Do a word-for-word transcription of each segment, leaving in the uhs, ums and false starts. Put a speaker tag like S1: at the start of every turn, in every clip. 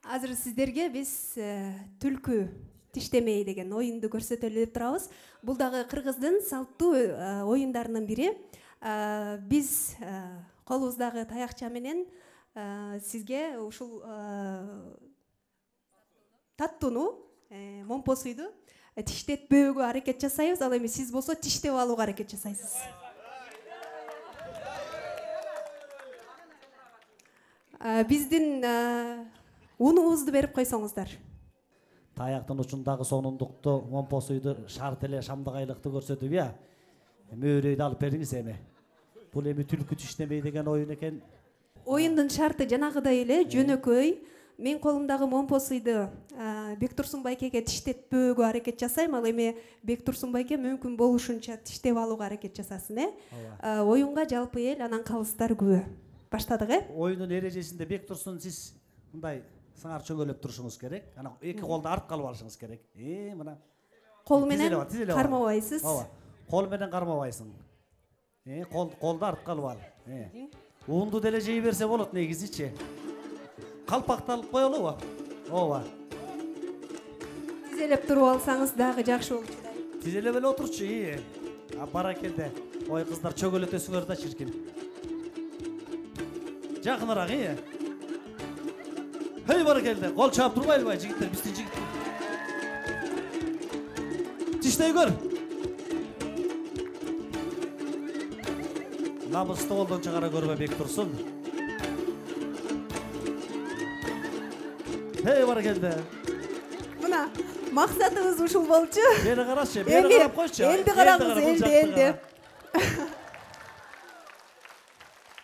S1: Азыр сиздерге биз түлкү тиштемей деген оюнду көрсөтөлү деп турабыз. Бул дагы кыргыздын салттуу оюндарынын бири. Биз колубуздагы таякча менен сизге ушул таттууну, момпосуйду тиштетпөөгө аракет жасайбыз. Ал эми сиз болсо тиштеп алууга аракет жасайсыз. Биздин унубузду берип койсоңуздар.
S2: Таяктын учундагы сонундукту, момпосуйду, шарт эле шамдагайлыкты көрсөтүп, я. Мөөрөйдү алып бериңиз эми. Бул эми түлкү тиштемей деген оюн экен.
S1: Оюндун шарты жанагыдай эле жөнөкөй. Мен колумдагы момпосуйду Бектурсун байкеге тиштетпөөгө аракет жасайм. Ал эми Бектурсун байке мүмкүн болушунча тиштеп алууга аракет жасасын, э? Оюнга жалпы эл, анан калыстар күбө. Баштадык, э?
S2: Оюндун эрежесинде Бектурсун сиз мындай сыңар чөңөлөп турушуңуз керек. Анан эки колду артка алып алышыңыз керек. Э, мына.
S1: Кол менен кармабайсыз.
S2: Ооба. Кол менен кармабайсың. Э, кол колду артка алып ал. Э. Уунду деле жей берсе болот негизичи. Калпакты алып коелубу? Ооба.
S1: Тизелеп туруп алсаңыз дагы жакшы болчу.
S2: Тизелеп эле отурчу, ии. А баракелде. Ой, кыздар чөгөлөтөсүңөр да чиркин. Жакыныраак, ии. Hey баракелде. Кол чаап турбайлыбы жигиттер, биздин жигит. Тиштей көр. Намысты колдон чыгара көрбө Бектурсун. Hey баракелде.
S1: Мына максатыбыз ушул болчу.
S2: Бери карашы, бери карап койчу.
S1: Элди караңыз, элди, элди.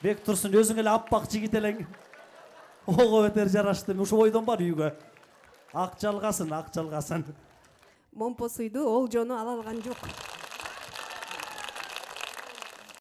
S2: Бектурсун өзүң эле аппак жигит элең. Ого бетер жарашты. Ушу ойдон бар үйгө. Ак жалгасын, ак жалгасын.
S1: Момпосуйду ол жону ала алган жок.